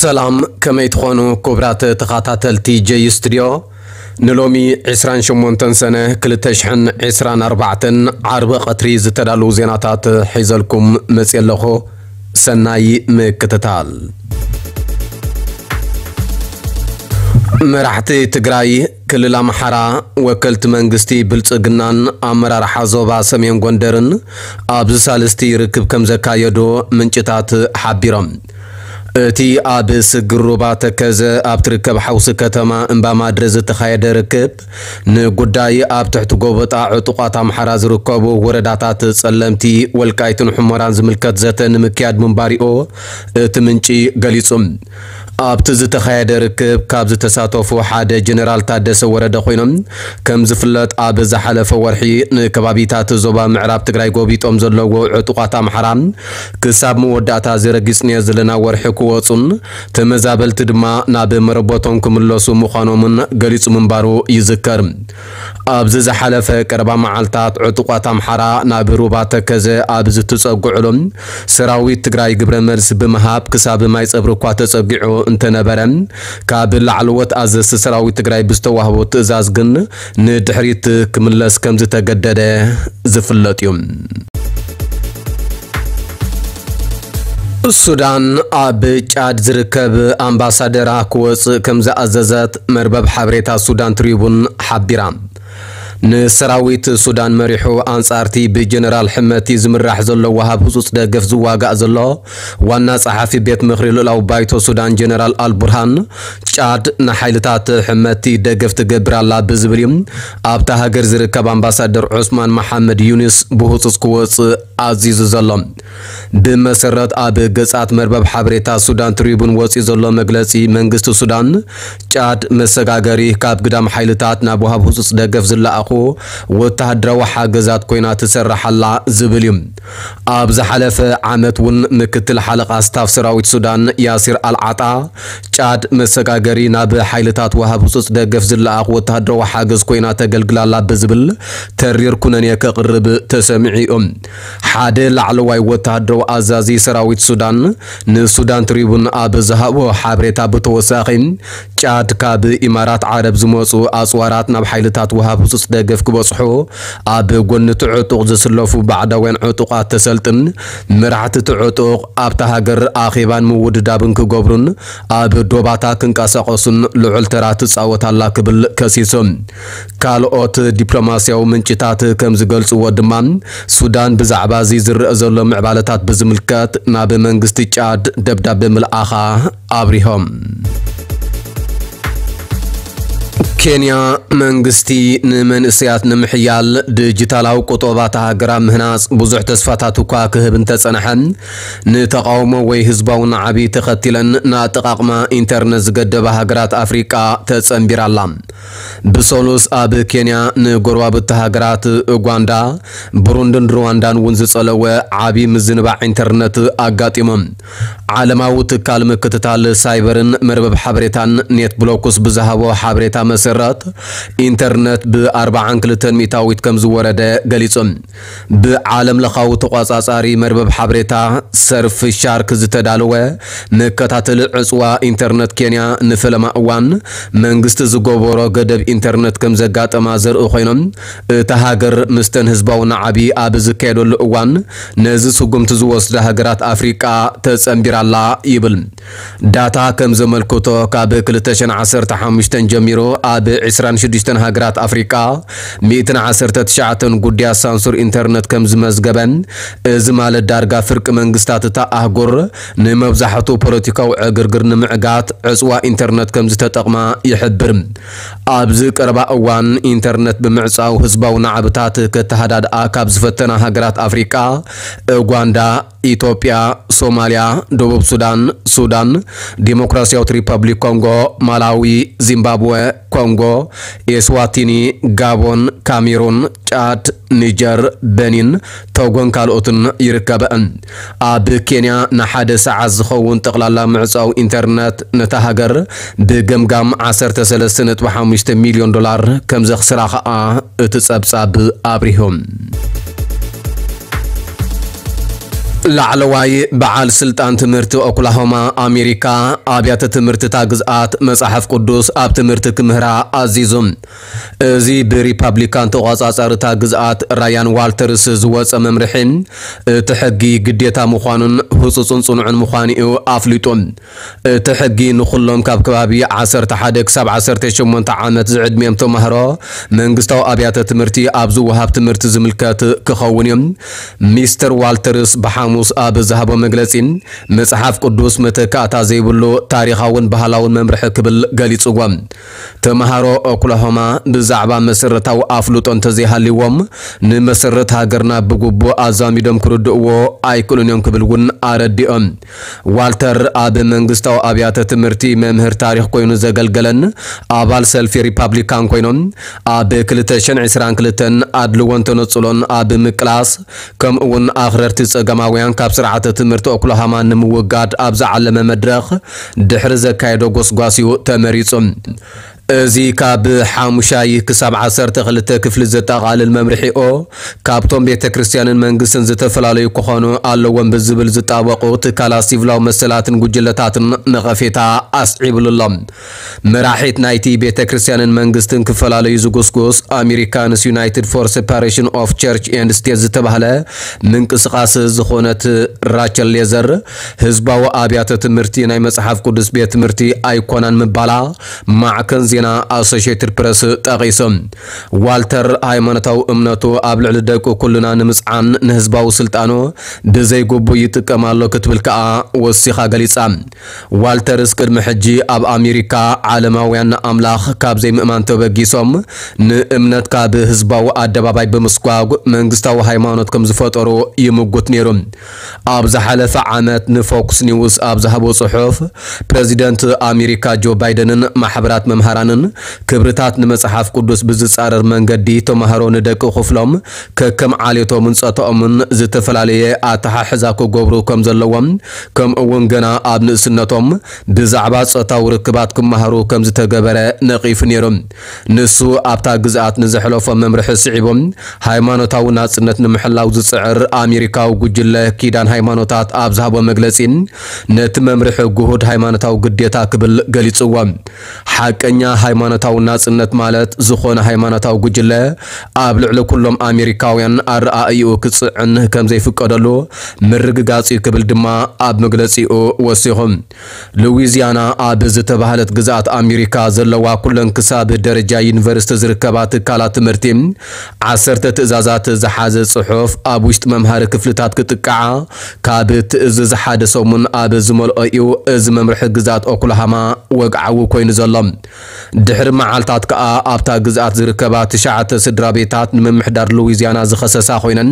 ሰላም፣ ከመይ ትኾኑ ክቡራት ተኸታተልቲ ጀይ ስቱድዮ? ንሎሚ ዕስራን ሸሞንተን ሰነ ክልተ ሽሕን ዕስራን ኣርባዕተን ዓርቢ ቀትሪ ዝተዳለዉ ዜናታት ሒዘልኩም መፅየ ኣለኹ። ሰናይ ምክትታል። መራሕቲ ትግራይ፣ ክልል ኣምሓራ፣ ወከልቲ መንግስቲ ብልፅግናን ኣመራርሓ ዞባ ሰሜን ጎንደርን ኣብዚ ሳልስቲ ርክብ ከም ዘካየዱ ምንጭታት ሓቢሮም። እቲ ኣብ ስግር ሩባ ተከዘ ኣብ ትርከብ ሓውሲ ከተማ እምባማድረ ዝተኻየደ ርክብ፣ ንጉዳይ ኣብ ትሕቲ ጎበጣ ዕጡቓት ኣምሓራ ዝርከቡ ወረዳታት ጸለምቲ፣ ወልቃይትን ሑመራን ዝምልከት ዘተ ንምክያድ ምንባሪኡ እቲ ምንጪ ገሊጹ። ኣብቲ ዝተኻየደ ርክብ ካብ ዝተሳተፉ ሓደ ጀነራል ታደሰ ወረደ ኮይኖም፣ ከም ዝፍለጥ ኣብ ዝሓለፈ ወርሒ ንከባቢታት ዞባ ምዕራብ ትግራይ ጎቢጦም ዘለዉ ዕጡቓት ኣምሓራ ክሳብ መወዳእታ እዚ ረጊጽናዮ ዘለና ወርሒ ክወጹን ተመዛበልቲ ድማ ናብ መረበቶም ክምለሱ ምዃኖምን ገሊጹ ምንባሩ ይዝከር። ኣብዚ ዝሓለፈ ቀረባ መዓልታት ዕጡቓት ኣምሓራ ናብ ሩባ ተከዘ ኣብ ዝትጸግዕሉ ሰራዊት ትግራይ ግብረ መልሲ ብምሃብ ክሳብ ማይ ጸብሪ እኳ ተጸጊዑ እንተነበረ፣ ካብ ላዕለዎት ኣዘዝቲ ሰራዊት ትግራይ ብዝተዋህቦ ትእዛዝ ግን ንድሕሪት ክምለስ ከም ዝተገደደ ዝፍለጥ እዩ። ሱዳን ኣብ ጫድ ዝርከብ ኣምባሳደራ ክወጽእ ከም ዝኣዘዘት መርበብ ሓበሬታ ሱዳን ትሪቡን ሓቢራ። ንሰራዊት ሱዳን መሪሑ ኣንጻርቲ ብጀነራል ሕመቲ ዝምራሕ ዘሎ ወሃብ ህጹጽ ደገፍ ዝዋጋእ ዘሎ ዋና ጸሓፊ ቤት ምኽሪ ልኡላዊ ባይቶ ሱዳን ጀነራል ኣልቡርሃን፣ ጫድ ንሓይልታት ሕመቲ ደገፍ ትገብር ኣላ ብዝብል እዩ ኣብታ ሃገር ዝርከብ ኣምባሳደር ዑስማን መሓመድ ዩኒስ ብህጹጽ ክወጽእ ኣዚዙ ዘሎ። ብመሰረት ኣብ ገጻት መርበብ ሓበሬታ ሱዳን ትሪቡን ወጺኡ ዘሎ መግለጺ፣ መንግስቲ ሱዳን ጫድ መሰጋገሪ ካብ ግዳም ሓይልታት ናብ ወሃብ ህጹጽ ደገፍ ዝለኣኹ ወተሃደራዊ ሓገዛት ኮይና ትሰርሕ ኣላ ዝብል እዩ። ኣብ ዝሓለፈ ዓመት እውን ምክትል ሓለቓ ስታፍ ሰራዊት ሱዳን ያሲር ኣልዓጣ፣ ጫድ መሰጋገሪ ናብ ሓይልታት ወሃብ ህጹጽ ደገፍ ዝለኣኹ ወተሃደራዊ ሓገዝ ኮይና ተገልግላላ ብዝብል ተሪር ኩነኔ ከቕርብ ተሰሚዑ እዩ። ሓደ ላዕለዋይ ወተሃደራዊ ኣዛዚ ሰራዊት ሱዳን ንሱዳን ትሪቡን ኣብ ዝሃቦ ሓበሬታ ብተወሳኺ፣ ጫድ ካብ ኢማራት ዓረብ ዝመጹ ኣጽዋራት ናብ ሓይልታት ወሃብ ህጹጽ ደገፍ ክበጽሑ ኣብ ጎኒ እቲ ዕጡቕ ዝስለፉ ባዕዳውያን ዕጡቓት ተሰልጥን መራሕቲ እቲ ዕጡቕ ኣብታ ሃገር ኣኼባን ምውድዳብን ክገብሩን ኣብ ዶባታ ክንቀሳቐሱን ልዑል ተራ ትጻወት ኣላ ክብል ከሲሱ። ካልኦት ዲፕሎማስያዊ ምንጭታት ከም ዝገልጽዎ ድማ፣ ሱዳን ብዛዕባ እዚ ዝረአ ዘሎ ምዕባለታት ብዝምልከት ናብ መንግስቲ ጫድ ደብዳቤ ምልኣኻ ኣብሪሆም። ኬንያ፣ መንግስቲ ንመንእሰያት ንምሕያል ዲጂታላዊ ቁጠባ እታ ሃገር ኣብ ምህናጽ ብዙሕ ተስፋታት እኳ ክህብ እንተጸንሐ፣ ንተቓውሞ ወይ ህዝባዊ ናዕቢ ተኸቲለን ንኣጠቓቕማ ኢንተርነት ዝገደባ ሃገራት ኣፍሪቃ ተጸንቢራ ኣላ። ብሰሉስ ኣብ ኬንያ ንጎረባብቲ ሃገራት ኡጋንዳ፣ ብሩንድን ሩዋንዳን እውን ዝጸለወ ዓቢ ምዝንባዕ ኢንተርነት ኣጋጢሞም። ዓለማዊ ትካል ምክትታል ሳይበርን መርበብ ሓበሬታን ኔት ብሎክስ ብዝሃቦ ሓበሬታ መሰረት፣ ኢንተርነት ብ ኣርባዓን ክልተን ሚእታዊት ከም ዝወረደ ገሊጹ። ብዓለም ለኻዊ ተቋጻጻሪ መርበብ ሓበሬታ ሰርፍ ሻርክ ዝተዳለወ መከታተሊ ዕጽዋ ኢንተርነት ኬንያ ንፈለማ እዋን መንግስቲ ዝገበሮ ገደብ ኢንተርነት ከም ዘጋጠማ ዘርኢ ኮይኖም፣ እታ ሃገር ምስተን ህዝባዊ ናዕቢ ኣብ ዝካየደሉ እዋን ነዚ ስጉምቲ ዝወስዳ ሃገራት ኣፍሪቃ ተጸንቢራ ኣላ ይብል። ዳታ ከም ዘመልክቶ፣ ካብ ክልተ ሽሕን ዓሰርተ ሓሙሽተን ጀሚሩ ኣብ ዕስራን ሽዱሽተን ሃገራት ኣፍሪቃ ሚእትን ዓሰርተ ትሽዓተን ጉዳያት ሳንሱር ኢንተርነት ከም ዝመዝገበን፣ እዚ ማለት ዳርጋ ፍርቂ መንግስታት እታ ኣህጉር ንመብዛሕቱ ፖለቲካዊ ዕግርግር ንምዕጋት ዕጽዋ ኢንተርነት ከም ዝተጠቕማ ይሕብር። ኣብዚ ቀረባ እዋን ኢንተርነት ብምዕጻው ህዝባዊ ናዕብታት ከተሃዳድኣ ካብ ዝፈተና ሃገራት ኣፍሪቃ፣ ኡጋንዳ፣ ኢትዮጵያ፣ ሶማልያ፣ ደቡብ ሱዳን፣ ሱዳን፣ ዲሞክራሲያዊት ሪፐብሊክ ኮንጎ፣ ማላዊ፣ ዚምባብወ፣ ኮንጎ፣ ኤስዋቲኒ፣ ጋቦን፣ ካሜሩን፣ ጫድ፣ ኒጀር፣ በኒን፣ ቶጎን ካልኦትን ይርከበአን። ኣብ ኬንያ ንሓደ ሰዓት ዝኸውን ጠቕላላ ምዕጻው ኢንተርነት ነታ ሃገር ብገምጋም ዓሰርተ ሰለስተ ነጥቢ ሓሙሽተ ሚልዮን ዶላር ከም ዘኽስራ ኸኣ እቲ ጸብጻብ ኣብሪሁ። ላዕለዋይ በዓል ስልጣን ትምህርቲ ኦክላሆማ ኣሜሪካ ኣብያተ ትምህርቲ እታ ግዝኣት መጽሓፍ ቅዱስ ኣብ ትምህርቲ ክምህራ ኣዚዙ። እዚ ብሪፓብሊካን ተቖጻጻሪ እታ ግዝኣት ራያን ዋልተርስ ዝወጸ መምርሒ እቲ ሕጊ ግዴታ ምዃኑን ህጹጽን ጽኑዕን ምዃኑ እዩ ኣፍሊጡ። እቲ ሕጊ ንኹሎም ካብ ከባቢ ዓሰርተ ሓደ ክሳብ ዓሰርተ ሸሞንተ ዓመት ዝዕድሚኦም ተማሃሮ መንግስታዊ ኣብያተ ትምህርቲ ኣብ ዝወሃብ ትምህርቲ ዝምልከት ክኸውን እዩ። ሚስተር ዋልተርስ ብሓሙስ ኣብ ዝሃቦ መግለጺ፣ መጽሓፍ ቅዱስ መተካእታ ዘይብሉ ታሪኻውን ባህላውን መምርሒ ክብል ገሊጽዎ። ተማሃሮ ኦክላሆማ ብዛዕባ መሰረታዊ ኣፍልጦ እንተዘይሃልይዎም፣ ንመሰረት ሃገርና ብግቡእ ኣዛሚዶም ክርድእዎ ኣይክእሉን እዮም ክብል እውን ኣረዲኦም። ዋልተር ኣብ መንግስታዊ ኣብያተ ትምህርቲ መምህር ታሪኽ ኮይኑ ዘገልገለን ኣባል ሰልፊ ሪፓብሊካን ኮይኖም፣ ኣብ ክልተ ሽሕን ዕስራን ክልተን ኣድልዎን ተነጽሎን ኣብ ምቅላስ፣ ከምኡ እውን ኣኽረርቲ ጸገማውያን ካብ ስርዓተ ትምህርቲ ኦክላሃማ ንምውጋድ ኣብ ዝዓለመ መድረኽ ድሕሪ ዘካየዶ ጎስጓስ እዩ ተመሪጹ። እዚ ካብ ሓሙሻይ ክሳብ ዓሰርተ ክልተ ክፍሊ ዘጠቓልል መምርሒኦ፣ ካብቶም ቤተ ክርስቲያንን መንግስትን ዝተፈላለዩ ክኾኑ ኣለዎም ብዝብል ዝጣበቑ ትካላት ሲቪላዊ መሰላትን ጉጅለታትን ነቐፌታ ኣስዒብሉ ኣሎ። መራሒት ናይቲ ቤተ ክርስቲያንን መንግስትን ክፈላለዩ ዝጉስጉስ ኣሜሪካንስ ዩናይትድ ፎር ሴፓሬሽን ኦፍ ቸርች ኤንድ ስቴት ዝተባህለ ምንቅስቓስ ዝኾነት ራቸል ሌዘር፣ ህዝባዊ ኣብያተ ትምህርቲ ናይ መጽሓፍ ቅዱስ ቤት ትምህርቲ ኣይኮናን ምባላ ማዕከን ዜና ኣሶሽየትድ ፕረስ ጠቒሱ። ዋልተር ሃይማኖታዊ እምነቱ ኣብ ልዕሊ ደቂ ኩልና ንምጽዓን ንህዝባዊ ስልጣኑ ብዘይግቡእ ይጥቀም ኣሎ ክትብል ከኣ ወሲኻ ገሊጻ። ዋልተርስ ቅድሚ ሕጂ ኣብ ኣሜሪካ ዓለማውያን ንኣምላኽ ካብ ዘይምእማን ተበጊሶም ንእምነት ካብ ህዝባዊ ኣደባባይ ብምስጓግ መንግስታዊ ሃይማኖት ከም ዝፈጠሩ ይምጉት ነይሩ። ኣብ ዝሓለፈ ዓመት ንፎክስ ኒውስ ኣብ ዝሃቦ ጽሑፍ፣ ፕረዚደንት ኣሜሪካ ጆ ባይደንን ማሕበራት መምሃራንን ክብርታት ንመጽሓፍ ቅዱስ ብዝጻረር መንገዲ ተማሃሮ ንደቂ ክፍሎም ከከም ዓሌቶምን ጾታኦምን ዝተፈላለየ ኣተሓሕዛ ክገብሩ ከም ዘለዎም፣ ከምኡ እውን ገና ኣብ ንእስነቶም ብዛዕባ ጾታዊ ርክባት ክመሃሩ ከም ዝተገበረ ነቒፉ ነይሩ። ንሱ ኣብታ ግዝኣት ንዘሕለፎ መምርሒ ስዒቡ፣ ሃይማኖታዊ ናጽነት ንምሕላው ዝጽዕር ኣሜሪካዊ ጉጅለ ኪዳን ሃይማኖታት ኣብ ዝሃቦ መግለጺ፣ ነቲ መምርሒ ግሁድ ሃይማኖታዊ ግዴታ ክብል ገሊጽዎ። ሓቀኛ ሃይማኖታዊ ናጽነት ማለት ዝኾነ ሃይማኖታዊ ጉጅለ ኣብ ልዕሊ ኩሎም ኣሜሪካውያን ኣረኣእይኡ ክጽዕን ከም ዘይፍቀደሉ ምርግጋጽ እዩ ክብል ድማ ኣብ መግለጺኡ ወሲኹ። ሉዊዚያና ኣብ ዝተባህለት ግዝኣት ኣሜሪካ ዘለዋ ኩለን ክሳብ ደረጃ ዩኒቨርሲቲ ዝርከባ ትካላት ትምህርቲ ዓሰርተ ትእዛዛት ዝሓዘ ጽሑፍ ኣብ ውሽጢ መምሃሪ ክፍልታት ክጥቃዓ ካብ ትእዝዝ ሓደ ሰሙን ኣብ ዝመልኦ እዩ እዚ መምርሒ ግዝኣት ኦክላሃማ ወግዓዊ ኮይኑ ዘሎ። ድሕሪ መዓልታት ከኣ ኣብታ ግዝኣት ዝርከባ ትሽዓተ ስድራ ቤታት ንምምሕዳር ሉዊዚያና ዝኸሰሳ ኮይነን፣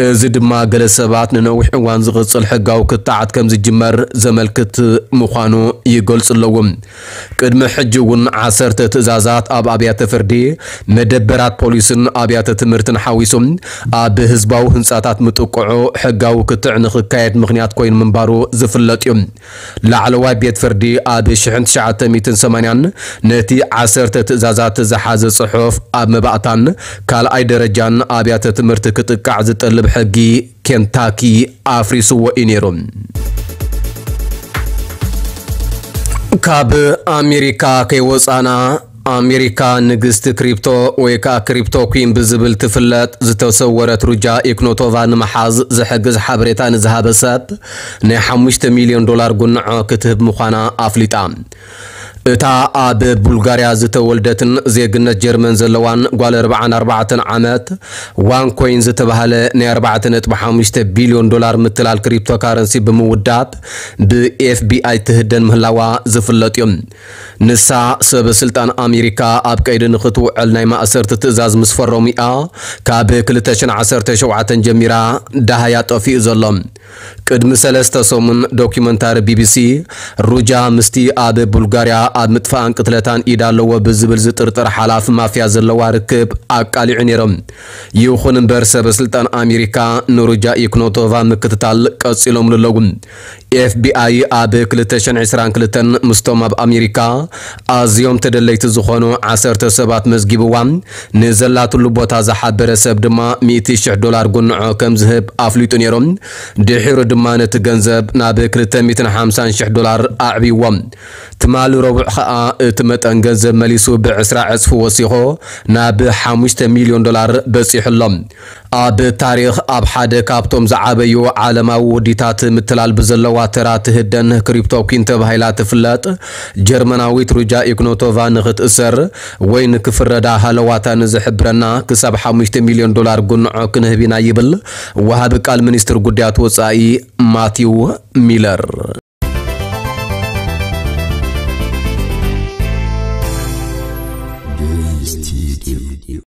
እዚ ድማ ገለ ሰባት ንነዊሕ እዋን ዝቕጽል ሕጋዊ ክትዓት ከም ዝጅመር ዘመልክት ምዃኑ ይገልጹ ኣለዉ። ቅድሚ ሕጂ እውን ዓሰርተ ትእዛዛት ኣብ ኣብያተ ፍርዲ፣ መደበራት ፖሊስን ኣብያተ ትምህርትን ሓዊሱ ኣብ ህዝባዊ ህንጻታት ምጥቅዑ ሕጋዊ ክትዕ ንኽካየድ ምኽንያት ኮይኑ ምንባሩ ዝፍለጥ እዩ። ላዕለዋይ ቤት ፍርዲ ኣብ ሽሕን ትሽዓተ ሚእትን ሰማንያን ነቲ ዓሰርተ ትእዛዛት ዝሓዘ ጽሑፍ ኣብ መባእታን ካልኣይ ደረጃን ኣብያተ ትምህርቲ ክጥቃዕ ዝጠልብ ሕጊ ኬንታኪ ኣፍሪስዎ እዩ ነይሩ። ካብ ኣሜሪካ ከይወጻና፣ ኣሜሪካ ንግስቲ ክሪፕቶ ወይ ከዓ ክሪፕቶ ኩን ብዝብል ትፍለጥ ዝተሰወረት ሩጃ ኢክኖቶቫ ንምሓዝ ዝሕግዝ ሓበሬታ ንዝሃበ ሰብ ናይ ሓሙሽተ ሚልዮን ዶላር ጉንዖ ክትህብ ምዃና ኣፍሊጣ። እታ ኣብ ቡልጋርያ ዝተወልደትን ዜግነት ጀርመን ዘለዋን ጓል ኣርባዓን ኣርባዕተን ዓመት ዋን ኮይን ዝተባህለ ናይ ኣርባዕተ ነጥቢ ሓሙሽተ ቢልዮን ዶላር ምትላል ክሪፕቶ ካረንሲ ብምውዳብ ብኤፍቢኣይ ትህደን ምህላዋ ዝፍለጥ እዩ። ንሳ ሰበ ስልጣን ኣሜሪካ ኣብ ቀይዲ ንኽትውዕል ናይ ማእሰርቲ ትእዛዝ ምስ ፈረሙ እያ ካብ ክልተ ሽሕን ዓሰርተ ሸውዓተን ጀሚራ ደሃያ ጠፊኡ ዘሎ። ቅድሚ ሰለስተ ሰሙን ዶኪመንታሪ ቢቢሲ ሩጃ ምስቲ ኣብ ቡልጋርያ ኣብ ምጥፋእን ቅትለታን ኢድ ኣለዎ ብዝብል ዝጥርጠር ሓላፊ ማፍያ ዘለዋ ርክብ ኣቃሊዑ ነይሮም። ይኹን እምበር ሰበ ስልጣን ኣሜሪካ ንሩጃ ኢክኖቶቫ ምክትታል ቀጺሎምሉ ኣለዉ። ኤፍቢኣይ ኣብ ክልተ ሽሕን ዕስራን ክልተን ምስቶም ኣብ ኣሜሪካ ኣዝዮም ተደለይቲ ዝኾኑ ዓሰርተ ሰባት መዝጊብዋ። ንዘላትሉ ቦታ ዝሓበረ ሰብ ድማ ሚእቲ ሽሕ ዶላር ጉንዖ ከም ዝህብ ኣፍሊጡ ነይሩ። ድሒሩ ድማ ነቲ ገንዘብ ናብ ክልተ ሚእትን ሓምሳን ሽሕ ዶላር ኣዕብይዎ። ትማሊ ረቡዕ ኸኣ እቲ መጠን ገንዘብ መሊሱ ብዕስራ ዕጽፊ ወሲኾ ናብ ሓሙሽተ ሚልዮን ዶላር በጺሑ ኣሎ። ኣብ ታሪኽ ኣብ ሓደ ካብቶም ዝዓበዩ ዓለማዊ ውዲታት ምትላል ብዘለዋ ተራ ትህደን ክሪፕቶ ኲን ተባሂላ ትፍለጥ ጀርመናዊት ሩጃ ኢግኖቶቫ ንኽትእሰር ወይ ንክፍረዳ ሃለዋታ ንዝሕብረና ክሳብ ሓሙሽተ ሚልዮን ዶላር ጉንዖ ክንህብ ኢና ይብል ወሃቢ ቃል ሚኒስትር ጉዳያት ወጻኢ ማቲው ሚለር።